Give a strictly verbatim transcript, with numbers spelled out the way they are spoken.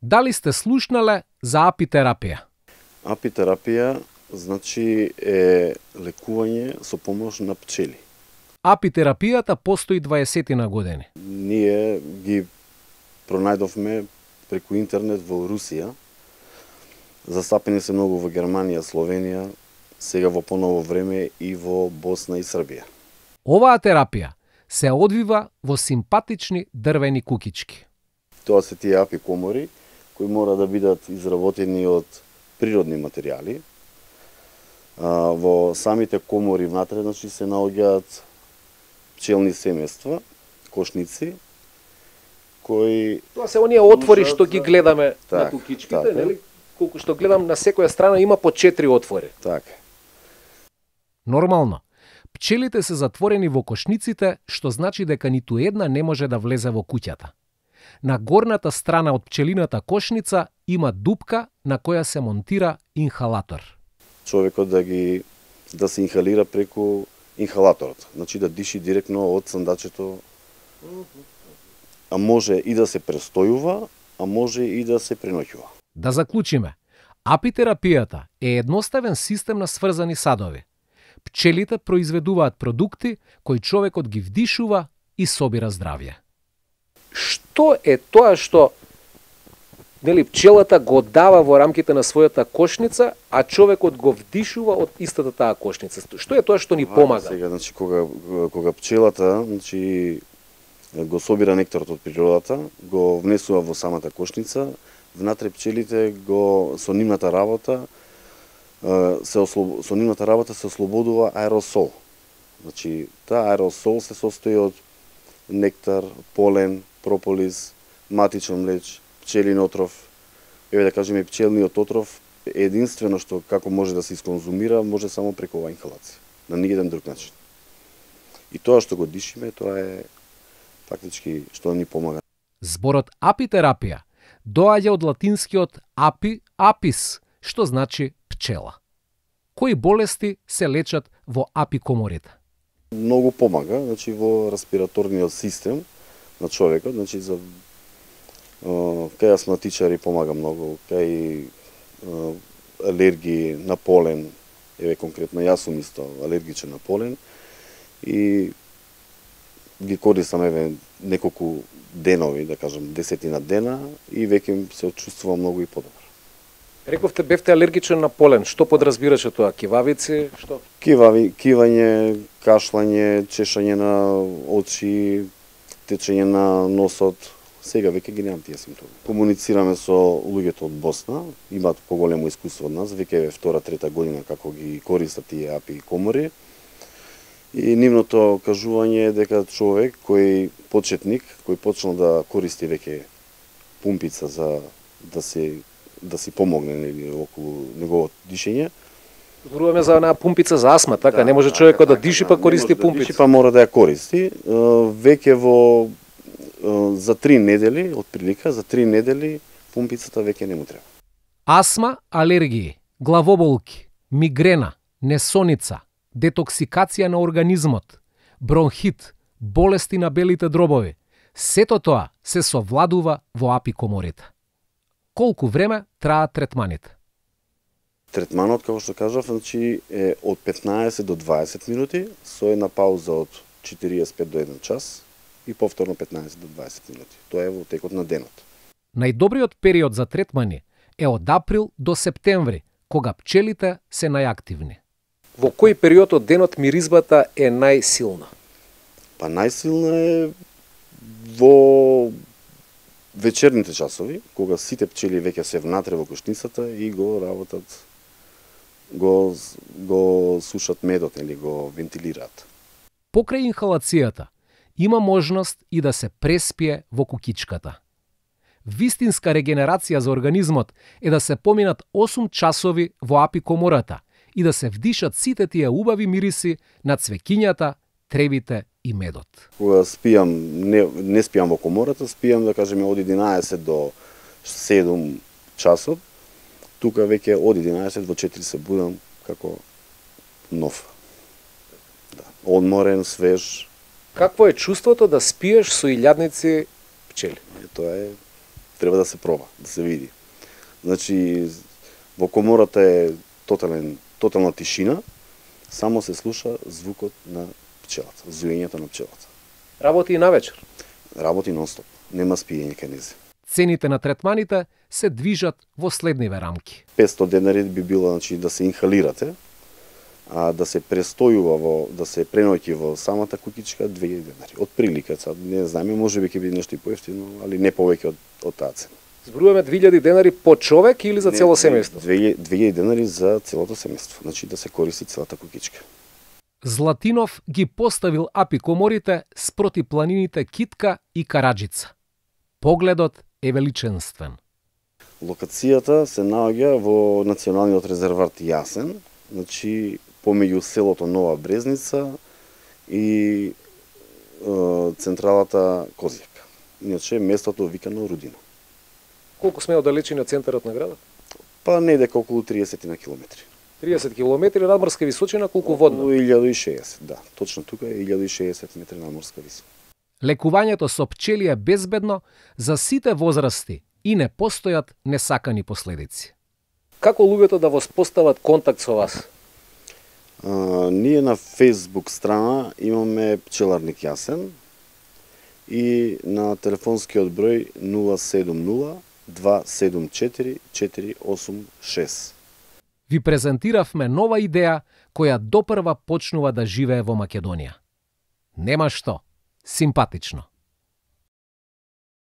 Дали сте слушнале за апитерапија? Апитерапија значи е лекување со помош на пчели. Апитерапијата постои дваесет години. Ние ги пронајдовме преку интернет во Русија. Застапени се многу во Германија, Словенија, сега во поново време и во Босна и Србија. Оваа терапија се одвива во симпатични дрвени кукички. Тоа се тие апикомори кои мора да бидат изработени од природни материјали. А, во самите комори внатре значи се наоѓаат пчелни семејства, кошници, кои... Тоа се оние отвори што ги гледаме так, на кукичките, така. нели? Колку што гледам, на секоја страна има по четири отвори. Така. Нормално. Пчелите се затворени во кошниците, што значи дека ниту една не може да влезе во куќата. На горната страна од пчелината кошница има дупка на која се монтира инхалатор. Човекот да ги да се инхалира преку инхалаторот, значи да диши директно од сандачето. А може и да се престојува, а може и да се преноќува. Да заклучиме, апитерапијата е едноставен систем на сврзани садови. Пчелите произведуваат продукти кои човекот ги вдишува и собира здравје. Што е тоа што нели пчелата го дава во рамките на својата кошница, а човекот го вдишува од истата таа кошница? Што е тоа што ни помага? Сега, значи, кога, кога пчелата значи, го собира нектарот од природата, го внесува во самата кошница, внатре пчелите го со нивната работа се ослоб... со нивната работа се ослободува аеросол. Значи, таа аеросол се состои од нектар, полен, прополис, матичен млеч, пчелин отров. Еве да кажеме, пчелниот отров единствено што како може да се исконзумира, може само преку оваа инхалација, на ниеден друг начин. И тоа што го дишиме, тоа е фактички што ни помага. Зборот апитерапија доаѓа од латинскиот апи, апис, што значи пчела. Кои болести се лечат во апикоморите? Многу помага, значи во респираторниот систем на човекот, значи за кај астматичари помага многу, кај алергии на полен, еве конкретно јас сум исто алергичен на полен и ги користам еве неколку денови, да кажам десетина дена и веќе се чувствувам многу и подобро. Рековте бевте алергичен на полен. Што подразбираше тоа? Кивавици? Што? Кивави, кивање, кашлање, чешање на очи, течење на носот. Сега веќе ги немам тие симптоми. Комуницираме со луѓето од Босна, имаат поголемо искуство од нас, веќе е втора, трета година како ги користат тие апи комори. И нивното кажување е дека човек кој почетник, кој почнал да користи веќе пумпица за да се да си помогне нели околу неговото дишење. Зборуваме за онаа пумпица за астма, така? Да, не може човекот да диши па користи пумпица. Да диши па мора да ја користи. Веќе во за три недели, од прилика, за три недели пумпицата веќе не му треба. Астма, алергии, главоболки, мигрена, несоница, детоксикација на организмот, бронхит, болести на белите дробови. Сето тоа се совладува во апикоморите. Колку време траат третманите? Третманот, како што кажав, значи е од петнаесет до дваесет минути, со една пауза од четириесет и пет до еден час и повторно петнаесет до дваесет минути. Тоа е во текот на денот. Најдобриот период за третмани е од април до септември, кога пчелите се најактивни. Во кој период од денот миризбата е најсилна? Па најсилна е во вечерните часови, кога сите пчели веќе се внатре во кошницата и го работат, го, го сушат медот или го вентилираат. Покрај инхалацијата, има можност и да се преспие во кукичката. Вистинска регенерација за организмот е да се поминат осум часови во апикомората и да се вдишат сите тие убави мириси на цвеќињата, тревите и медот. Кога спијам, не, не спијам во комората, спијам да кажеме од единаесет до седум часот. Тука веќе од единаесет до четири се будам како нов. Да. Одморен, свеж. Какво е чувството да спиеш со илјадници пчели? Е, тоа е треба да се проба, да се види. Значи, во комората е тотален, тотална тишина, само се слуша звукот на пчелата, зуењето на пчелата. Работи и навечер. Работи нон-стоп, нема спиење кај незе. Цените на третманите се движат во следниве рамки. петстотини денари би било, значи, да се инхалирате, а да се престојува во, да се преноќи во самата куќичка две илјади денари. Од прилика, сад не знаеме, може би ќе биде нешто и поевтино, али не повеќе од, од таа цена. Зборуваме две илјади денари по човек или за цело семејство? две илјади денари за целото семејство, значи да се користи целата куќичка. Златинов ги поставил апи коморите спроти планините Китка и Караџица. Погледот е величенствен. Локацијата се наоѓа во Националниот резерват Јасен, значи помеѓу селото Нова Брезница и е, централата Козјак. Иначе местото викано Рудино. Колку сме оддалечени од центарот на градот? Па недека околу триесет на километри. триесет километри надморска височина, колку водно? Околу илјада и шеесет, да. Точно тука е илјада и шеесет метри надморска висина. Лекувањето со пчели е безбедно за сите возрасти и не постојат несакани последици. Како луѓето да воспостават контакт со вас? А, ние на Facebook страна имаме пчеларник Јасен и на телефонскиот број нула седум нула два седум четири четири осум шест. Ви презентиравме нова идеја која допрва почнува да живее во Македонија. Нема што, симпатично.